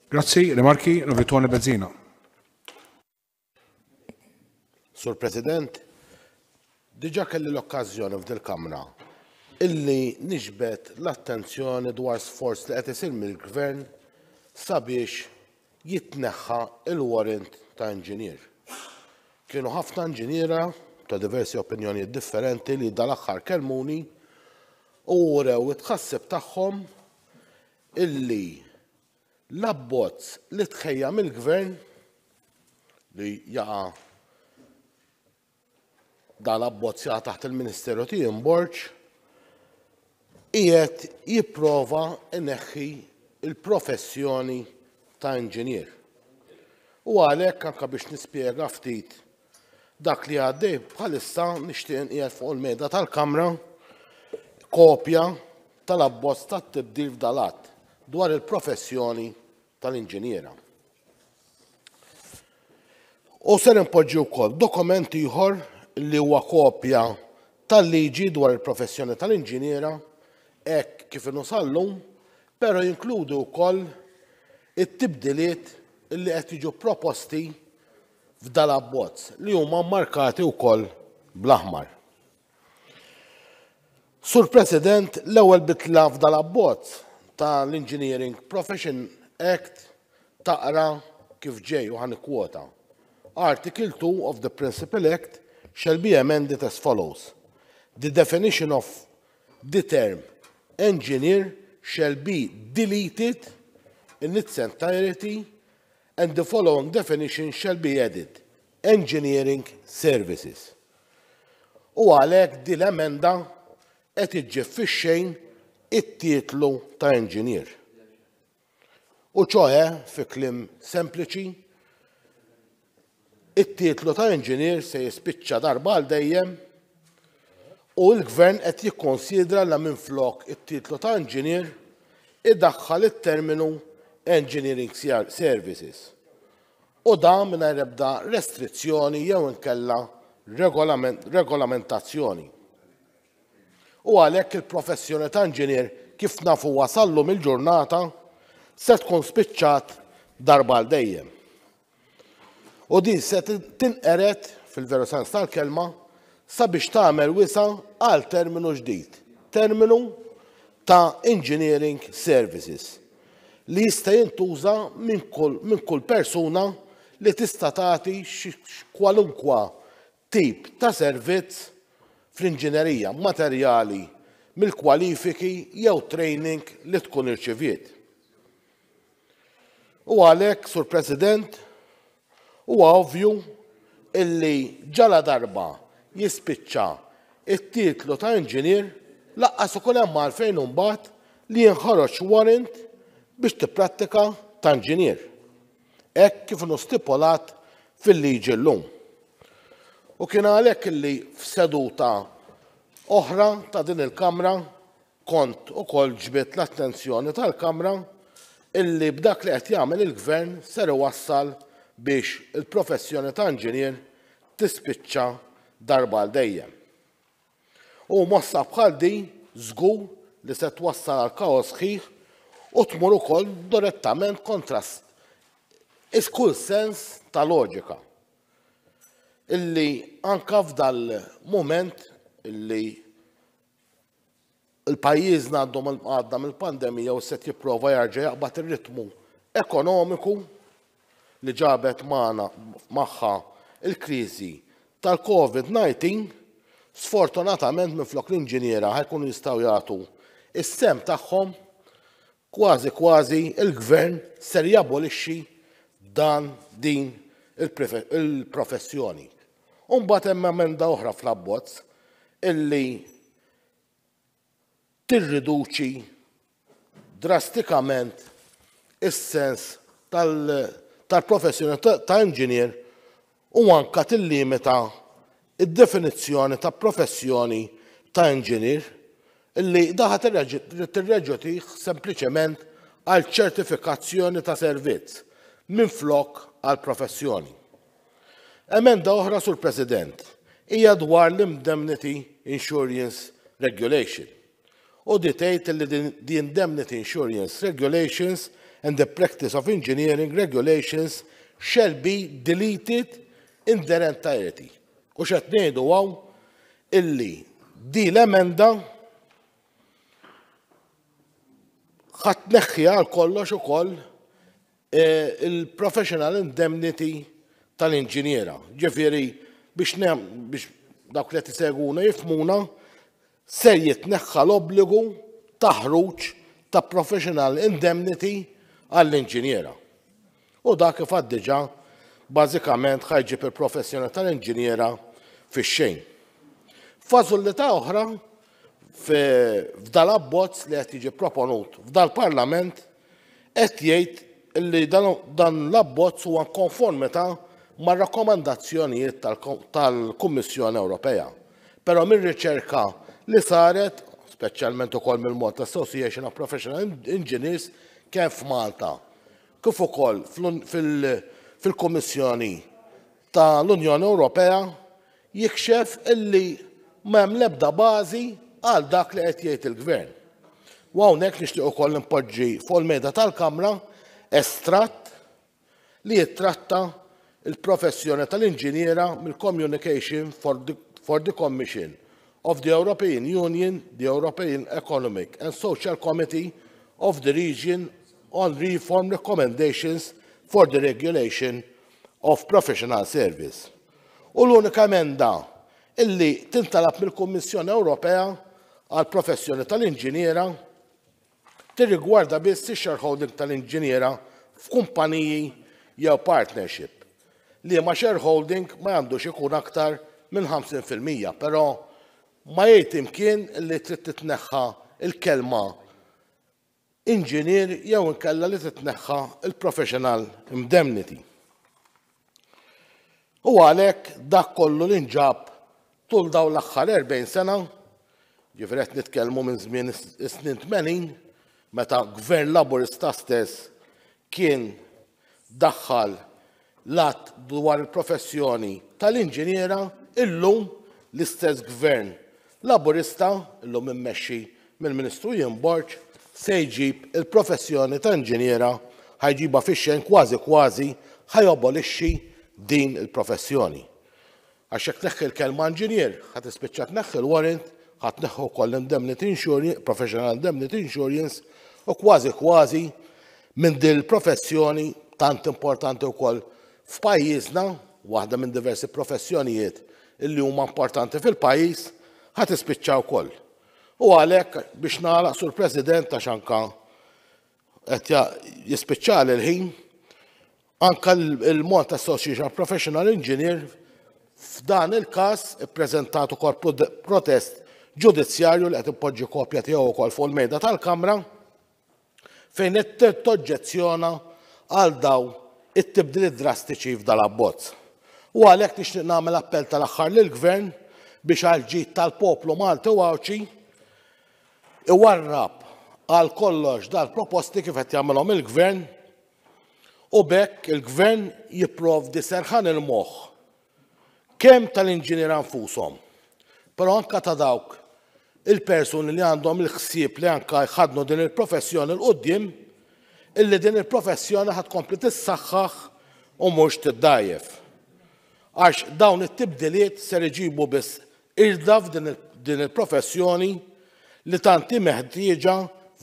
Grazzi, rimarki, Tony Bezzina. Sur President, diġà kelli l-okkażjoni f'dil-Kamra illi niġbed l-attenzjoni dwar sforz li qed isir mill-Gvern sabiex jitneħħa il-warrant ta' inġinier. Kienu ħafna inġiniera ta' diversi opinjonijiet differenti li dal-aħħar kellmuni u wrew it-tħassib tagħhom illi l-abbozz li tħejja mill-Gvern li jaqa' dan l-abbozz jaqa' taħt il-Ministeru Ian Borg qiegħed jipprova jneħħi l-professjoni ta' inġinier. U għalhekk anke biex nispjega ftit dak li għaddej bħalissa nixtieq inqiegħed fuq il-mejda tal-Kamra kopja tal-abbozz tat-tibdil f'dal-att dwar il-professjoni tal-inġiniera. U ser inpoġġi wkoll dokument ieħor li huwa kopja tal-liġi dwar il-professjoni tal-inġiniera hekk kif inhu sal-lum, però jinkludi wkoll it-tibdiliet li qed jiġu proposti f'dal-abbozz li huma mmarkati wkoll bl-aħmar. Sur President, l-ewwel bidla f'dal-abbozz tal-Engineering Profession Act taqra kif ġej u ħa nikkwota. Article 2 of the Principal Act shall be amended as follows. The definition of the term engineer shall be deleted in its entirety and the following definition shall be added, engineering services. U għalhekk din l-emenda qed iġġib fix-xejn it-titlu ta' engineer. U ċoħe, fi kliem sempliċi, it-titlu ta' engineer se jispiċċa darba għal dejjem u l-gvern qed jikkonsidra la minflok it-titlu ta' engineer idaħħal it-terminu engineering services. U dan mingħajr ebda restrizzjoni jew inkella regolamentazzjoni. U għalhekk il-professjoni ta' inġinier kif nafuha sal-lum il-ġurnata se tkun spiċċat darba għal dejjem. U din se tinqered fil-veru sens tal-kelma sabiex tagħmel wisa' għal terminu ġdid, terminu ta' engineering services li jista' jintuża minn kull, min kull persuna li tista' tagħti kwalunkwa tip ta' servizz fl-inġinerija materjali mill-kwalifiki jew training li tkun irċiviet. U għalhekk, Sur President, huwa ovvju illi ġala darba jispiċċa it-titlu ta' inġinier lanqas ikun hemm għalfejn imbagħad li jinħaroġ warrant biex tipprattika ta' inġinier. Hekk kif inhu stipulat fil-liġi llum. U kien għalhekk illi f'seduta oħra ta' din il-Kamra Kont ukoll ġbidt l-attenzjoni tal-Kamra illi b'dak li qed jagħmel il-Gvern ser iwassal biex il-professjoni ta' inġinier tispiċċa darba għal dejjem. U mossa bħal din żgur li se twassal għal kaos sħiħ u tmur ukoll direttament kontra kull sens ta' loġika. Illi anka f'dal-mument illi Il-pajjiżna għandhom għadda mill-pandemija u se jipprova jarġa' jaqbad ir-ritmu ekonomiku li ġabet magħna magħha il-kriżi tal-COVID-19, sfortunatament minflok l-inġiniera ħa jkunu jistgħu jagħtu is-sehem tagħhom, kważi kważi il-gvern ser jabolixxi dan din il-professjoni. U mbagħad hemm emenda oħra fl-abbozz illi tirriduċi drastikament is-sens tal-professjoni ta' inġinier u anka tillimita id-definizzjoni ta' professjoni ta' inġinier illi daħa tirreġutih sempliċement għal ċertifikazzjoni ta' servizz minflok għal professjoni. Emenda oħra, Sur President, hija dwar l-Indemnity Insurance Regulation. U di tgħid li the Indemnity Insurance Regulations and the Practice of Engineering Regulations shall be deleted in their entirety. U x'qed ngħidu hawn illi di l-emenda ħa tneħħi għal kollox ukoll il-professional indemnity tal-inġiniera. Ġifieri biex biex dawk li qed isegwuna jifhmuna, ser jitneħħa l-obbligu ta' ħruġ ta' professional indemnity għall-inġiniera. U dak kif għad diġà bażikament ħa jġib il-professjoni tal-inġiniera fix-xejn. Fażullità oħra f'dal-abbozz li qed jiġi proponut f'dal-Parlament qed jgħid li dan l-abbozz huwa konformità mar-rakkomandazzjonijiet tal-Kummissjoni Ewropea. Però mir-riċerka li saret, speċjalment ukoll mill-Malta Association of Professional Engineers, kemm f'Malta kif ukoll fil-Kummissjoni tal-Unjoni Ewropea, jikxef illi ma hemm l-ebda bażi għal dak li qed jgħid il-Gvern. U hawnhekk nixtieq ukoll npoġġi fuq il-mejda tal-Kamra estratt li jittratta il-professjoni tal-inġiniera mill-Communication for the, for the Commission of the European Union, the European Economic and Social Committee of the Region on Reform Recommendations for the Regulation of Professional Service. U l-unika emenda illi tintalab mill-Kummissjoni Ewropea għal professjoni tal-inġiniera tirrigwarda biss ix-shareholding tal-inġiniera f'kumpaniji jew partnership li ma shareholding ma għandux ikun aktar minn 50%, però ma jgħid imkien li trid titneħħa il-kelma inġinier jew inkella li titneħħa il-professional indemnity. U għalhekk dak kollu li nġab tul dawn l-aħħar 40 sena, ġifieri qed nitkellmu minn żmien is-snin 80, meta gvern Laburista stess kien daħħal l-att dwar il-professjoni tal-inġiniera, illum l-istess gvern Laburista, illum immexxi mill-Ministru Ian Borg, se jġib il-professjoni ta' inġiniera, ħa jġibha fix-xejn, kważi kważi ħa jabolixxi din il-professjoni. Għax jekk tneħħi l-kelma inġinier, ħa tispiċċa tneħħi l-warrant, ħa tneħħi wkoll l-indemnity insurance, professional indemnity insurance, u kważi kważi minn din il-professjoni tant importanti wkoll f'pajjiżna, waħda minn diversi professjonijiet illi huma importanti fil-pajjiż, ħa tispiċċa wkoll. U għalhekk biex nagħlaq, Sur President, għax anka qed jispiċċali l-ħin, anka il-Malta Association of Professional Engineer f'dan il-każ ippreżentat ukoll protest ġudizzjarju li qed ipoġġi kopja tiegħu wkoll fuq il-mejda tal-Kamra fejn qed toġġezzjona għal daw it-tibdiliet drastiċi f'dal-abbozz. U għalhekk nixtieq nagħmel appell tal-aħħar lill-Gvern biex għal ġid tal-poplu Malti u Għawdxi iwarrab għal kollox dal-proposti kif qed jagħmilhom il-Gvern u b'hekk il-Gvern jipprovdi serħan il-moħħ kemm tal-inġiniera nfushom, però anka ta' dawk il-persuni li għandhom il-ħsieb li anka jħadnu din il-professjoni 'l quddiem, illi din il-professjoni ħa tkompli tissaħħaħ u mhux tiddgħajjef. Għax dawn it-tibdiliet ser iġibu biss irda f'din din il-professjoni li tant hi meħtieġa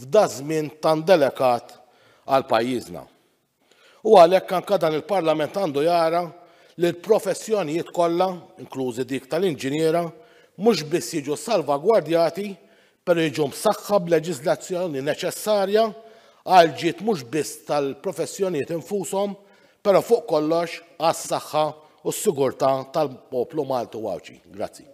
f'da żmien tant delikat għal pajjiżna. U għalhekk anka dan il-Parlament għandu jara li l-professjonijiet kollha, inklużi dik tal-inġiniera, mhux biss jiġu salvagwardjati, però jiġu msaħħa b'leġiżlazzjoni neċessarja għal ġid mhux biss tal-professjonijiet infushom, però fuq kollox għas-saħħa u s-sigurtà tal-poplu Malti u Għawdxi. Grazzi.